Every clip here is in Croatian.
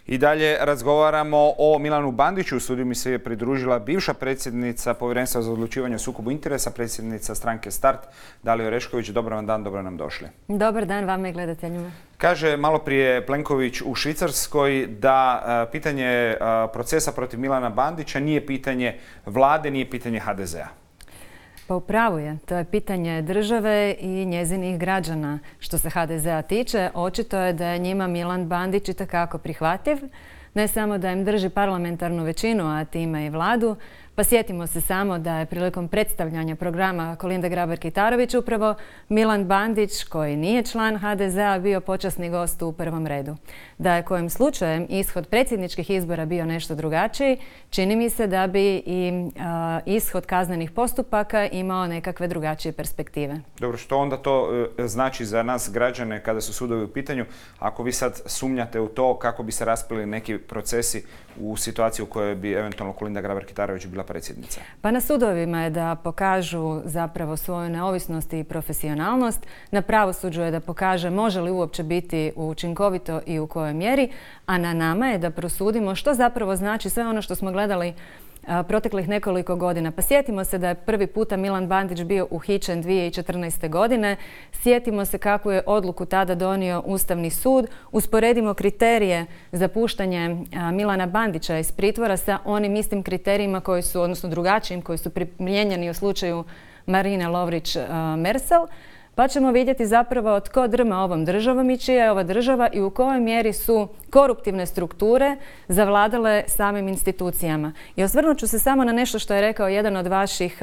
I dalje razgovaramo o Milanu Bandiću. U studiju mi se je pridružila bivša predsjednica Povjerenstva za odlučivanje o sukobu interesa, predsjednica stranke Start, Dalija Orešković. Dobar vam dan, dobro nam došli. Dobar dan vama i gledateljima. Kaže malo prije Plenković u Švicarskoj da pitanje procesa protiv Milana Bandića nije pitanje vlade, nije pitanje HDZ-a. Pa upravo je. To je pitanje države i njezinih građana. Što se HDZ-a tiče, očito je da je njima Milan Bandić itekako prihvatljiv. Ne samo da im drži parlamentarnu većinu, a time i vladu. Pa sjetimo se samo da je prilikom predstavljanja programa Kolinde Grabar-Kitarović upravo Milan Bandić, koji nije član HDZ-a, bio počasni gost u prvom redu. Da je kojim slučajem ishod predsjedničkih izbora bio nešto drugačiji, čini mi se da bi i ishod kaznenih postupaka imao nekakve drugačije perspektive. Dobro, što onda to znači za nas građane kada su sudovi u pitanju? Ako vi sad sumnjate u to kako bi se raspili neki procesi u situaciji u kojoj bi eventualno Kolinda Grabar-Kitarović bila predsjednica? Pa na sudovima je da pokažu zapravo svoju neovisnost i profesionalnost. Na pravosuđu je da pokaže može li uopće biti učinkovito i u kojoj mjeri, a na nama je da prosudimo što zapravo znači sve ono što smo gledali proteklih nekoliko godina. Pa sjetimo se da je prvi puta Milan Bandić bio uhićen 2014. godine. Sjetimo se kakvu je odluku tada donio Ustavni sud. Usporedimo kriterije za puštanje Milana Bandića iz pritvora sa onim istim kriterijima koji su, odnosno drugačijim, koji su primijenjeni u slučaju Marine Lovrić-Merzel. Pa ćemo vidjeti zapravo tko drma ovom državom i čija je ova država i u kojoj mjeri su koruptivne strukture zavladale samim institucijama. I osvrnut ću se samo na nešto što je rekao jedan od vaših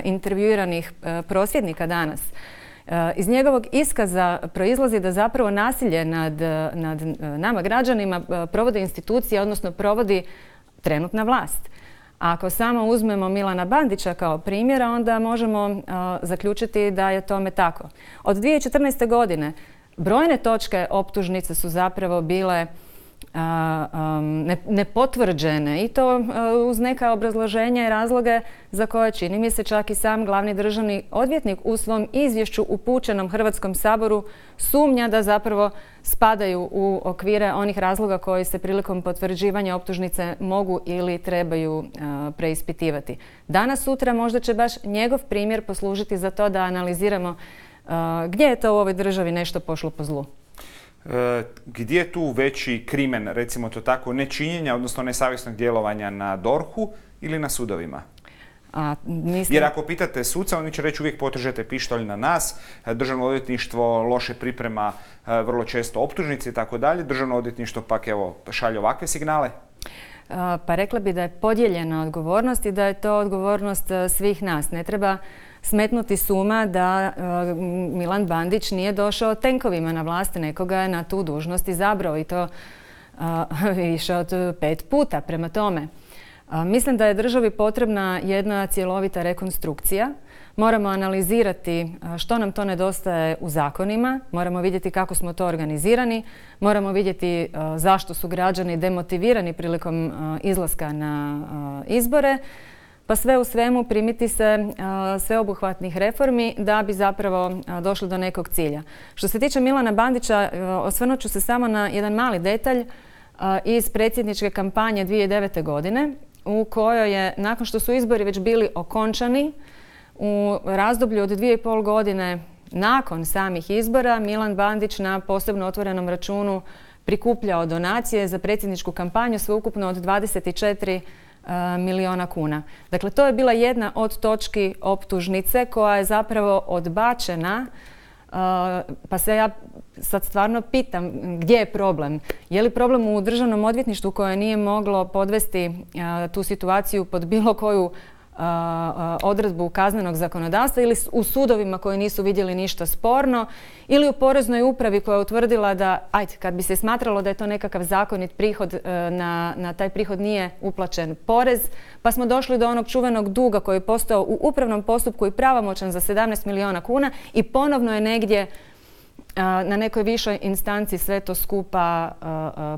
intervjuiranih prosvjednika danas. Iz njegovog iskaza proizlazi da zapravo nasilje nad nama građanima provode institucije, odnosno provodi trenutna vlast. Ako samo uzmemo Milana Bandića kao primjera, onda možemo zaključiti da je tome tako. Od 2014. godine brojne točke optužnice su zapravo bile nepotvrđene i to uz neka obrazloženja i razloge za koje čini mi se čak i sam glavni državni odvjetnik u svom izvješću upućenom Hrvatskom saboru sumnja da zapravo spadaju u okvire onih razloga koji se prilikom potvrđivanja optužnice mogu ili trebaju preispitivati. Danas, sutra možda će baš njegov primjer poslužiti za to da analiziramo gdje je to u ovoj državi nešto pošlo po zlu. Gdje je tu veći krimen, recimo to tako, nečinjenja, odnosno nesavjesnog djelovanja na DORH-u ili na sudovima? Jer ako pitate suca, oni će reći uvijek potržete pištolj na nas, Državno odvjetništvo loše priprema vrlo često optužnice i tako dalje, Državno odvjetništvo pak evo šalje ovakve signale. Pa rekla bi da je podijeljena odgovornost i da je to odgovornost svih nas. Ne treba smetnuti s uma da Milan Bandić nije došao tenkovima na vlast, nekoga je na tu dužnost izabrao i to više od 5 puta. Prema tome, mislim da je državi potrebna jedna cjelovita rekonstrukcija. Moramo analizirati što nam to nedostaje u zakonima, moramo vidjeti kako smo to organizirani, moramo vidjeti zašto su građani demotivirani prilikom izlaska na izbore, pa sve u svemu primiti se sveobuhvatnih reformi da bi zapravo došli do nekog cilja. Što se tiče Milana Bandića, osvrnut ću se samo na jedan mali detalj iz predsjedničke kampanje 2009. godine u kojoj je, nakon što su izbori već bili okončani, u razdoblju od 2,5 godine nakon samih izbora Milan Bandić na posebno otvorenom računu prikupljao donacije za predsjedničku kampanju sveukupno od 24 milijuna kuna. Dakle, to je bila jedna od točki optužnice koja je zapravo odbačena, pa se ja sad stvarno pitam gdje je problem. Je li problem u Državnom odvjetništvu koje nije moglo podvesti tu situaciju pod bilo koju odredbu kaznenog zakonodavstva ili u sudovima koji nisu vidjeli ništa sporno ili u Poreznoj upravi koja je utvrdila da, kad bi se smatralo da je to nekakav zakonit prihod, na taj prihod nije uplaćen porez, pa smo došli do onog čuvenog duga koji je postao u upravnom postupku i pravomoćan za 17 milijuna kuna i ponovno je negdje na nekoj višoj instanci sve to skupa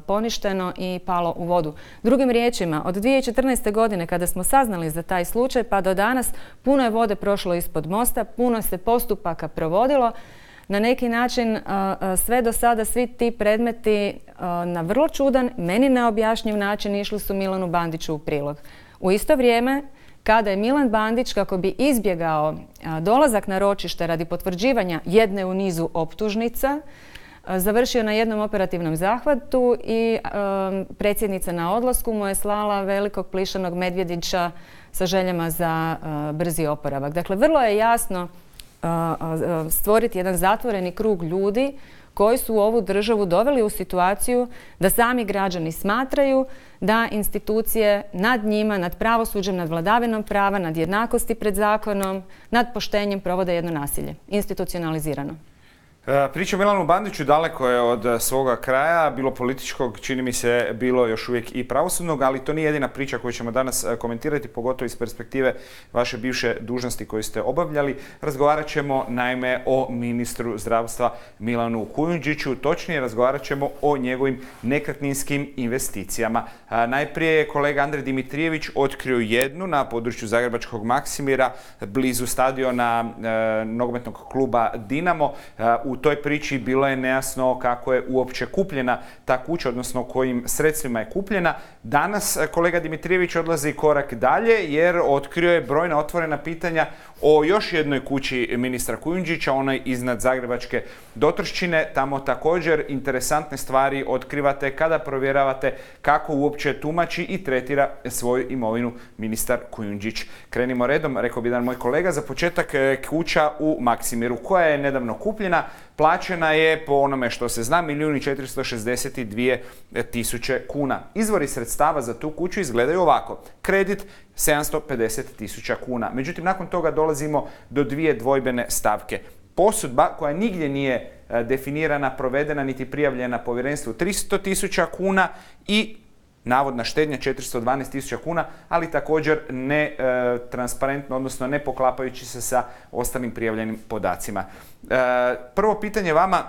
poništeno i palo u vodu. Drugim riječima, od 2014. godine kada smo saznali za taj slučaj pa do danas puno je vode prošlo ispod mosta, puno se postupaka provodilo. na neki način sve do sada, svi ti predmeti na vrlo čudan, meni neobjašnjiv način išli su Milanu Bandiću u prilog. U isto vrijeme, kada je Milan Bandić, kako bi izbjegao dolazak na ročište radi potvrđivanja jedne u nizu optužnica, završio na jednom operativnom zahvatu i predsjednica na odlasku mu je slala velikog plišanog medvjedića sa željama za brzi oporavak. Dakle, vrlo je jasno stvoriti jedan zatvoreni krug ljudi koji su ovu državu doveli u situaciju da sami građani smatraju da institucije nad njima, nad pravosuđem, nad vladavinom prava, nad jednakosti pred zakonom, nad poštenjem provode jedno nasilje, institucionalizirano. Priča o Milanu Bandiću daleko je od svoga kraja, bilo političkog, čini mi se, bilo još uvijek i pravosudnog, ali to nije jedina priča koju ćemo danas komentirati, pogotovo iz perspektive vaše bivše dužnosti koju ste obavljali. Razgovarat ćemo naime o ministru zdravstva Milanu Kujundžiću, točnije razgovarat ćemo o njegovim nekretninskim investicijama. Najprije je kolega Andrej Dimitrijević otkrio jednu na području zagrebačkog Maksimira, blizu stadiona nogometnog kluba Dinamo. U toj priči bilo je nejasno kako je uopće kupljena ta kuća, odnosno kojim sredstvima je kupljena. Danas kolega Dimitrijević odlazi korak dalje jer otkrio je brojna otvorena pitanja o još jednoj kući ministra Kujundžića, onoj iznad zagrebačke Dotrščine. Tamo također interesantne stvari otkrivate kada provjeravate kako uopće tumači i tretira svoju imovinu ministar Kujundžić. Krenimo redom, rekao bi jedan moj kolega. Za početak kuća u Maksimiru koja je nedavno kupljena. Plaćena je, po onome što se zna, 1.462.000 kuna. Izvori sredstava za tu kuću izgledaju ovako. Kredit 750.000 kuna. Međutim, nakon toga dolazimo do dvije dvojbene stavke. Posudba koja nigdje nije definirana, provedena niti prijavljena povjerenstvu 300.000 kuna i navodna štednja 412.000 kuna, ali također ne transparentno, odnosno ne poklapajući se sa ostalim prijavljenim podacima. Prvo pitanje vama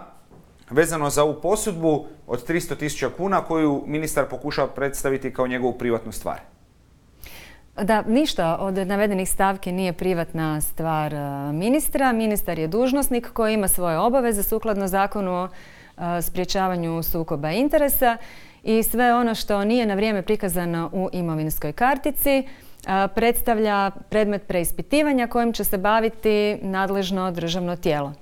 vezano za ovu posudbu od 300.000 kuna koju ministar pokušava predstaviti kao njegovu privatnu stvar. Da, ništa od navedenih stavki nije privatna stvar ministra. Ministar je dužnosnik koji ima svoje obaveze sukladno Zakonu o sprječavanju sukoba interesa i sve ono što nije na vrijeme prikazano u imovinskoj kartici predstavlja predmet preispitivanja kojim će se baviti nadležno državno tijelo.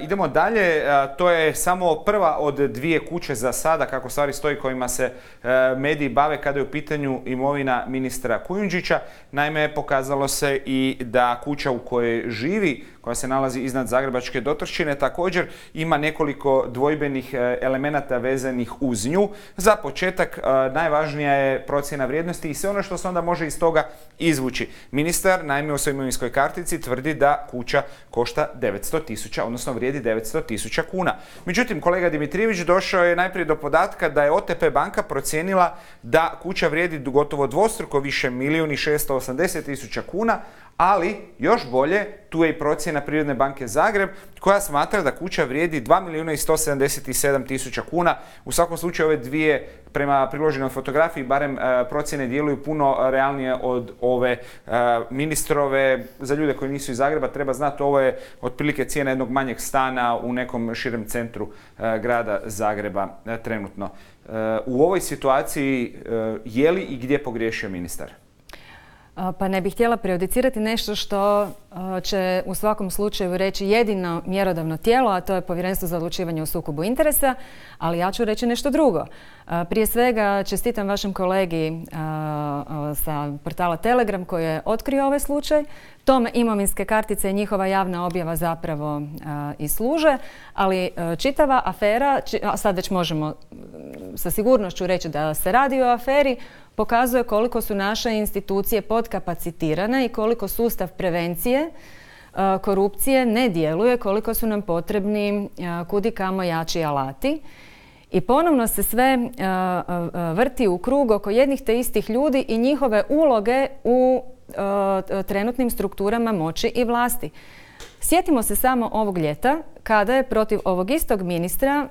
Idemo dalje, to je samo prva od dvije kuće za sada, kako stvari stoji, kojima se mediji bave kada je u pitanju imovina ministra Kujundžića. Naime, pokazalo se i da kuća u kojoj živi, koja se nalazi iznad zagrebačke Dotrščine, također ima nekoliko dvojbenih elemenata vezanih uz nju. Za početak, najvažnija je procjena vrijednosti i sve ono što se onda može iz toga izvući. Ministar, naime, u svojoj imovinskoj kartici tvrdi da kuća košta 900.000, odnosno vrijedi 900.000 kuna. Međutim, kolega Dimitrijević došao je najprije do podatka da je OTP banka procijenila da kuća vrijedi gotovo dvostruko više, 1.680.000 kuna, ali još bolje, tu je i procjena Privredne banke Zagreb koja smatra da kuća vrijedi 2.177.000 kuna. U svakom slučaju ove dvije, prema priloženoj fotografiji, barem procjene djeluju puno realnije od ove ministrove. Za ljude koji nisu iz Zagreba treba znati, ovo je otprilike cijena jednog manjeg stana u nekom širem centru grada Zagreba trenutno. U ovoj situaciji je li i gdje pogriješio ministar? Pa ne bih htjela prejudicirati nešto što će u svakom slučaju reći jedino mjerodavno tijelo, a to je Povjerenstvo za odlučivanje o sukobu interesa, ali ja ću reći nešto drugo. Prije svega čestitam vašem kolegi sa portala Telegram koji je otkrio ovaj slučaj. Tome imovinske kartice i njihova javna objava zapravo i služe, ali čitava afera, a sad već možemo sa sigurnošću reći da se radi o aferi, pokazuje koliko su naše institucije podkapacitirane i koliko sustav prevencije korupcije ne djeluje, koliko su nam potrebni kudikamo jači alati. I ponovno se sve vrti u krug oko jednih te istih ljudi i njihove uloge u trenutnim strukturama moći i vlasti. Sjetimo se samo ovog ljeta kada je protiv ovog istog ministra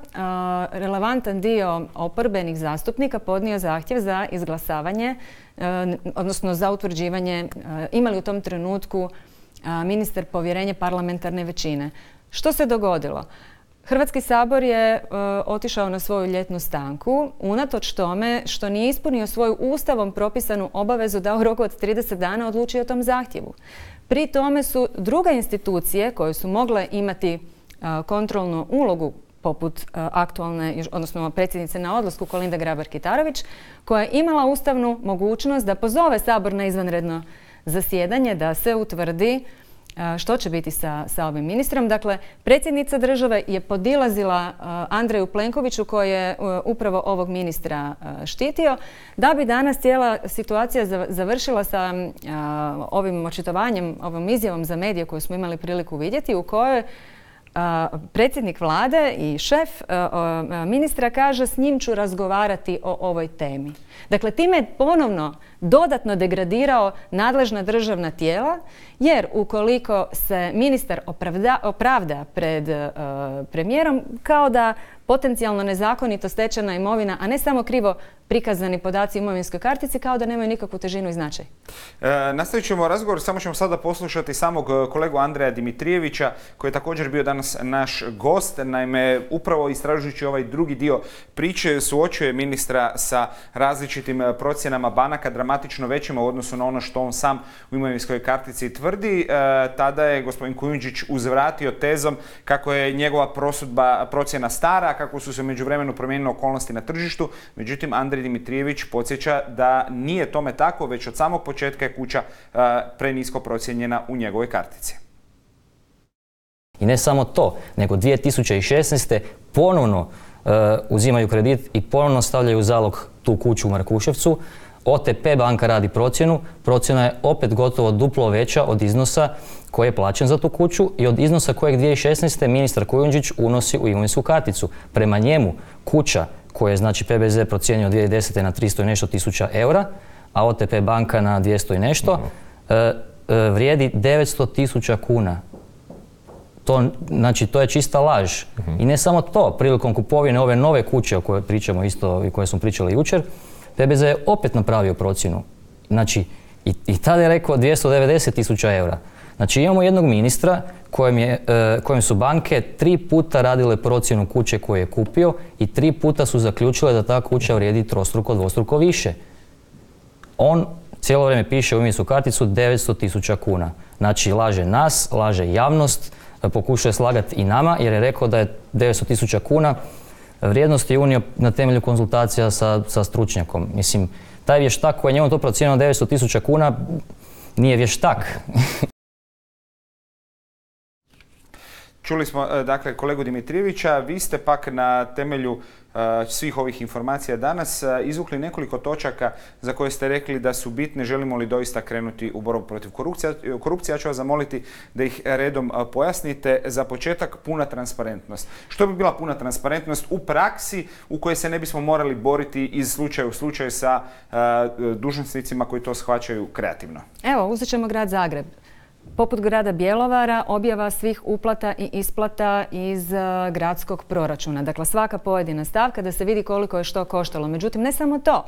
relevantan dio oporbenih zastupnika podnio zahtjev za izglasavanje, odnosno za utvrđivanje ima li u tom trenutku ministar povjerenje parlamentarne većine. Što se dogodilo? Hrvatski sabor je otišao na svoju ljetnu stanku unatoč tome što nije ispunio svoju ustavom propisanu obavezu da u roku od 30 dana odluči o tom zahtjevu. Pri tome su druge institucije koje su mogle imati kontrolnu ulogu poput aktualne, odnosno predsjednice na odlasku Kolinde Grabar-Kitarović, koja je imala ustavnu mogućnost da pozove Sabor na izvanredno zasjedanje, da se utvrdi što će biti sa ovim ministrom. Dakle, predsjednica države je podilazila Andreju Plenkoviću koji je upravo ovog ministra štitio, da bi danas cijela situacija završila sa ovim očitovanjem, ovom izjavom za medije koju smo imali priliku vidjeti, u kojoj predsjednik vlade i šef ministra kaže s njim ću razgovarati o ovoj temi. Dakle, time je ponovno dodatno degradirao nadležna državna tijela, jer ukoliko se ministar opravda pred premijerom, kao da potencijalno nezakonito stečena imovina, a ne samo krivo prikazani podaci imovinskoj kartici, kao da nemaju nikakvu težinu i značaj. Nastavit ćemo razgovor, samo ćemo sada poslušati samog kolegu Andreja Dimitrijevića, koji je također bio danas naš gost. Naime, upravo istražujući ovaj drugi dio priče, suočuje ministra sa različitim procjenama banaka, dramatično većima u odnosu na ono što on sam u imovinskoj kartici tvrdi. Tada je gospodin Kujundžić uzvratio tezom kako je njegova procjena stara, kako su se u međuvremenu promijenile okolnosti na tržištu. Međutim, Andrej Dimitrijević podsjeća da nije tome tako, već od samog početka je kuća prenisko procijenjena u njegovoj kartici. I ne samo to, nego 2016. ponovno uzimaju kredit i ponovno stavljaju u zalog tu kuću u Markuševcu. OTP banka radi procjenu, procjena je opet gotovo duplo veća od iznosa koji je plaćen za tu kuću i od iznosa kojeg 2016. ministar Kujundžić unosi u imovinsku karticu. Prema njemu kuća koju je znači PBZ procijenio 2010. na 300 i nešto tisuća eura, a OTP banka na 200 i nešto, vrijedi 900 tisuća kuna. To je čista laž. I ne samo to, prilikom kupovine ove nove kuće o kojoj pričamo isto i koje smo pričali jučer, PBZ je opet napravio procjenu. Znači, i tada je rekao 290 tisuća eura. Znači, imamo jednog ministra kojem su banke 3 puta radile procjenu kuće koju je kupio i 3 puta su zaključile da ta kuća vrijedi trostruko, dvostruko više. On cijelo vrijeme piše u imovinsku karticu 900 tisuća kuna. Znači, laže nas, laže javnost, pokušuje slagati i nama jer je rekao da je 900 tisuća kuna vrijednost je unio na temelju konzultacija sa stručnjakom. Mislim, taj vještak koji je njemu to procijenio 900 tisuća kuna nije vještak. Čuli smo, dakle, kolegu Dimitrijevića. Vi ste pak na temelju svih ovih informacija danas izvukli nekoliko točaka za koje ste rekli da su bitne. Želimo li doista krenuti u borbu protiv korupcije? Ja ću vas zamoliti da ih redom pojasnite. Za početak, puna transparentnost. Što bi bila puna transparentnost u praksi u kojoj se ne bismo morali boriti iz slučaja u slučaju sa dužnosnicima koji to shvaćaju kreativno? Evo, uzet ćemo grad Zagreb. Poput grada Bjelovara, objava svih uplata i isplata iz gradskog proračuna. Dakle, svaka pojedina stavka da se vidi koliko je što koštalo. Međutim, ne samo to.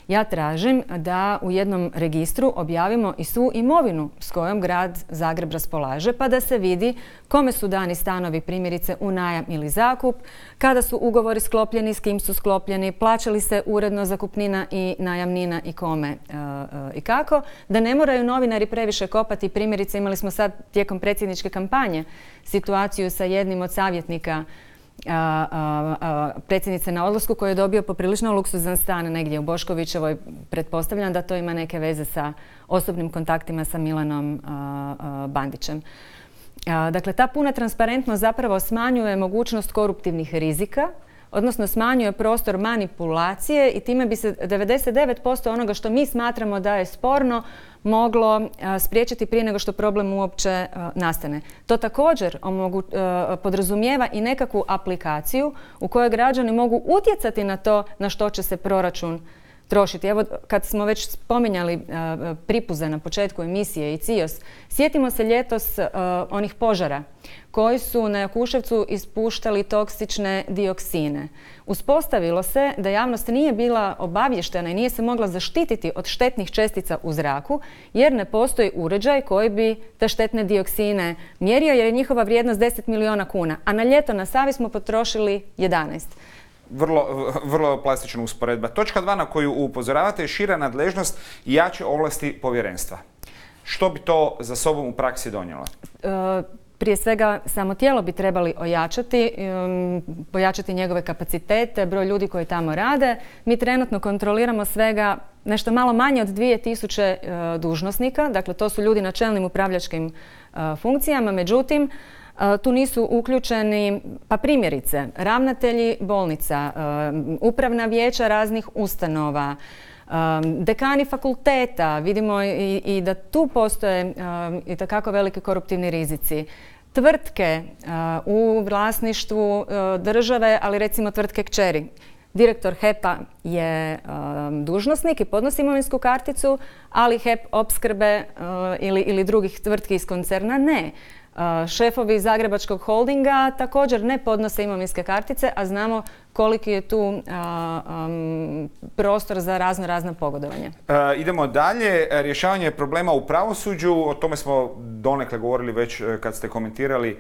Ja tražim da u jednom registru objavimo i svu imovinu s kojom grad Zagreb raspolaže, pa da se vidi kome su dani stanovi primjerice u najam ili zakup, kada su ugovori sklopljeni, s kim su sklopljeni, plaća li se uredno zakupnina i najamnina i kome i kako. Da ne moraju novinari previše kopati. Primjerice, imali smo sad tijekom predsjedničke kampanje situaciju sa jednim od savjetnika predsjednice na odlasku koji je dobio poprilično luksuzan stan negdje u Boškovićevoj. Pretpostavljam da to ima neke veze sa osobnim kontaktima sa Milanom Bandićem. Dakle, ta puna transparentnost zapravo smanjuje mogućnost koruptivnih rizika, odnosno smanjuje prostor manipulacije i time bi se 99% onoga što mi smatramo da je sporno moglo spriječiti prije nego što problem uopće nastane. To također podrazumijeva i nekakvu aplikaciju u kojoj građani mogu utjecati na to na što će se proračun trošiti. Evo, kad smo već spominjali Pripuze na početku emisije i CIOS, sjetimo se ljetos onih požara koji su na Jakuševcu ispuštali toksične dioksine. Uspostavilo se da javnost nije bila obavještena i nije se mogla zaštititi od štetnih čestica u zraku, jer ne postoji uređaj koji bi te štetne dioksine mjerio, jer je njihova vrijednost 10 milijuna kuna, a na ljeto na Savi smo potrošili 11. Vrlo plastična usporedba. Točka 2 na koju upozoravate je šira nadležnost i jače ovlasti povjerenstva. Što bi to za sobom u praksi donijelo? Prije svega, samo tijelo bi trebali pojačati njegove kapacitete, broj ljudi koji tamo rade. Mi trenutno kontroliramo svega nešto malo manje od 2000 dužnosnika, dakle to su ljudi na čelnim upravljačkim funkcijama, međutim, tu nisu uključeni, pa primjerice, ravnatelji bolnica, upravna vijeća raznih ustanova, dekani fakulteta, vidimo i da tu postoje itekako veliki koruptivni rizici. Tvrtke u vlasništvu države, ali recimo tvrtke kćeri. Direktor HEP-a je dužnosnik i podnosi imovinsku karticu, ali HEP opskrbe ili drugih tvrtki iz koncerna ne. Šefovi Zagrebačkog holdinga također ne podnose imovinske kartice, a znamo koliki je tu prostor za razna pogodovanja. Idemo dalje. Rješavanje problema u pravosuđu, o tome smo donekle govorili već kad ste komentirali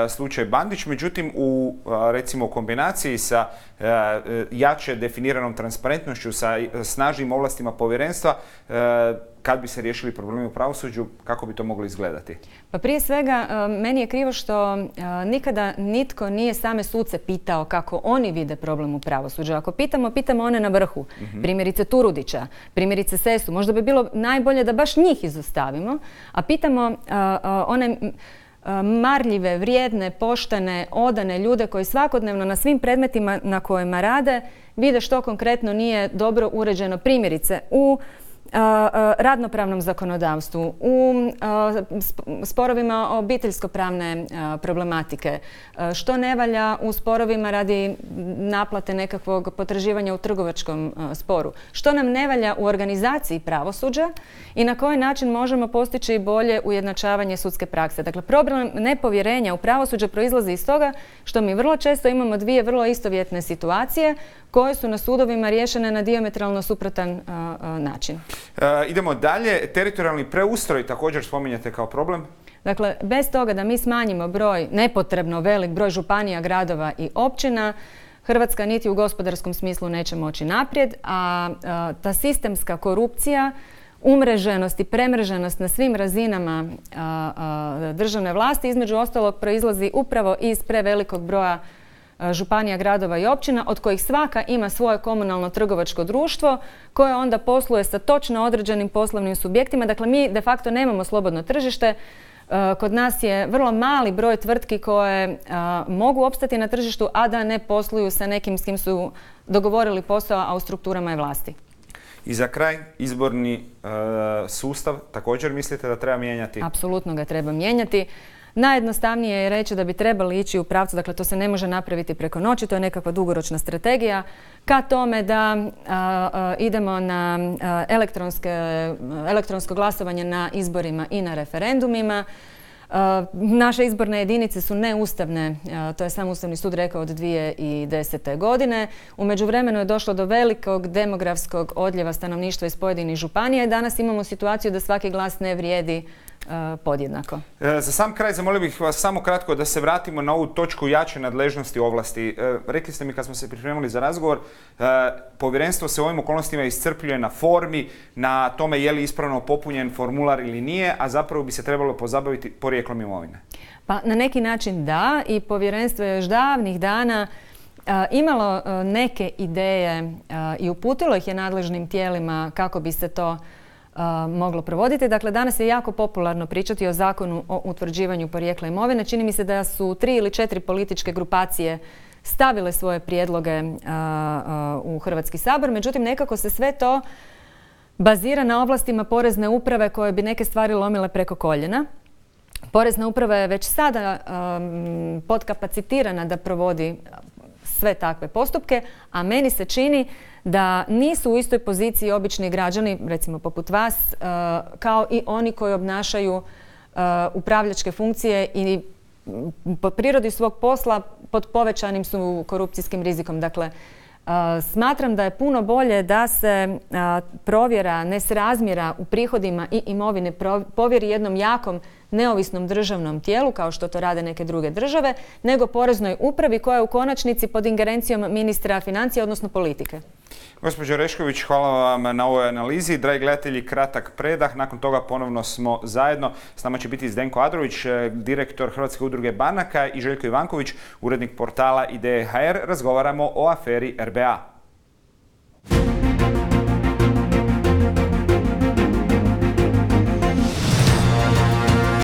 slučaj Bandić, međutim u recimo kombinaciji sa jače definiranom transparentnošću, sa snažnim ovlastima povjerenstva, kad bi se riješili problemi u pravosuđu, kako bi to moglo izgledati? Pa prije svega, meni je krivo što nikada nitko nije same suce pitao kako oni vide problem u pravosuđu. Ako pitamo one na vrhu, primjerice Turudića, primjerice Sesu, možda bi bilo najbolje da baš njih izostavimo, a pitamo one marljive, vrijedne, poštene, odane ljude koji svakodnevno na svim predmetima na kojima rade vide što konkretno nije dobro uređeno, primjerice u radnopravnom zakonodavstvu, u sporovima obiteljsko-pravne problematike, što ne valja u sporovima radi naplate nekakvog potraživanja u trgovačkom sporu, što nam ne valja u organizaciji pravosuđa i na koji način možemo postići bolje ujednačavanje sudske prakse. Dakle, problem nepovjerenja u pravosuđe proizlazi iz toga što mi vrlo često imamo dvije vrlo istovjetne situacije koje su na sudovima riješene na dijametralno suprotan način. Idemo dalje. Teritorijalni preustroj također spominjate kao problem. Dakle, bez toga da mi smanjimo broj, nepotrebno velik broj županija, gradova i općina, Hrvatska niti u gospodarskom smislu neće moći naprijed, a ta sistemska korupcija, umreženost i premreženost na svim razinama državne vlasti, između ostalog, proizlazi upravo iz prevelikog broja županija, gradova i općina, od kojih svaka ima svoje komunalno trgovačko društvo koje onda posluje sa točno određenim poslovnim subjektima. Dakle, mi de facto nemamo slobodno tržište. Kod nas je vrlo mali broj tvrtki koje mogu opstati na tržištu, a da ne posluju sa nekim s kim su dogovorili posao, a u strukturama je vlasti. I za kraj, izborni sustav također mislite da treba mijenjati? Apsolutno ga treba mijenjati. Najjednostavnije je reći da bi trebali ići u pravcu, dakle to se ne može napraviti preko noći, to je nekakva dugoročna strategija, ka tome da idemo na elektronsko glasovanje na izborima i na referendumima. Naše izborne jedinice su neustavne, to je sam Ustavni sud rekao od 2010. godine. U međuvremenu je došlo do velikog demografskog odljeva stanovništva iz pojedinih županija i danas imamo situaciju da svaki glas ne vrijedi podjednako. Za sam kraj zamolio bih vas samo kratko da se vratimo na ovu točku jače nadležnosti ovlasti. Rekli ste mi kad smo se pripremili za razgovor, povjerenstvo se u ovim okolnostima iscrpljuje na formi, na tome je li ispravno popunjen formular ili nije, a zapravo bi se trebalo pozabaviti porijeklom imovine. Pa na neki način da, i povjerenstvo je još davnih dana imalo neke ideje i uputilo ih je nadležnim tijelima kako bi se to moglo provoditi. Dakle, danas je jako popularno pričati o zakonu o utvrđivanju porijekla imovine. Čini mi se da su 3 ili 4 političke grupacije stavile svoje prijedloge u Hrvatski sabor. Međutim, nekako se sve to bazira na ovlastima porezne uprave koje bi neke stvari lomile preko koljena. Porezna uprava je već sada podkapacitirana da provodi sve takve postupke, a meni se čini da nisu u istoj poziciji obični građani, recimo poput vas, kao i oni koji obnašaju upravljačke funkcije i po prirodi svog posla pod povećanim su korupcijskim rizikom. Dakle, smatram da je puno bolje da se provjera nesrazmjera u prihodima i imovine povjeri jednom jakom neovisnom državnom tijelu, kao što to rade neke druge države, nego Poreznoj upravi koja je u konačnici pod ingerencijom ministra financija, odnosno politike. Gospođo Orešković, hvala vam na ovoj analizi. Dragi gledatelji, kratak predah. Nakon toga ponovno smo zajedno. S nama će biti Zdenko Adrović, direktor Hrvatske udruge banaka, i Željko Ivanković, urednik portala Ideje.hr. Razgovaramo o aferi RBA.